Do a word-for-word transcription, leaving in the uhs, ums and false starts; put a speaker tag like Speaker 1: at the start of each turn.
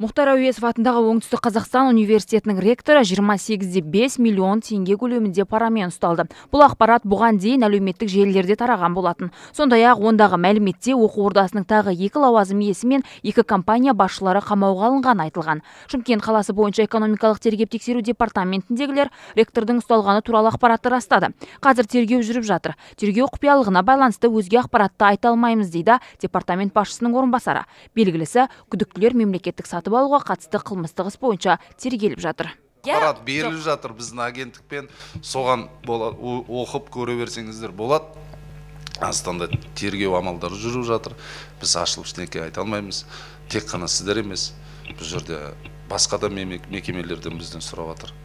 Speaker 1: Мұхтар Әуезов атындағы Оңтүстік Қазақстан университетінің ректоры жиырма сегіз де бес миллион теңге көлемінде парамен ұсталды. Бұл ақпарат бұған дейін әлеуметтік желілерде тараған болатын. Сондай-ақ ондағы мәліметте оқу ордасының тағы екі лауазым иесі мен екі компания басшылары қамауға алынғаны айтылған. Шымкент қаласы бойынша экономикалық тергеп-тексеру департаментіндегілер ректордың ұсталғаны туралы ақпаратты растады. Қазір тергеу жүріп жатыр. Тергеу құпиялығына байланысты өзге ақпаратты айта алмаймыз дейді департамент басшысының орынбасары. Белгілісі, күдіктілер мемлекеттік сатып алуға қатысты қылмыстық іс бойынша тергеліп жатыр.
Speaker 2: Ақпарат беріліп жатыр біздің агенттікпен, соған оқып көре берсеңіздер болады. Астанда тергеу амалдары жүріп жатыр. Біз ашылып ештеңе айта алмаймыз. Тек қана сіздер емес, бұл жерде басқа да мекемелерден бізден сұрап жатыр.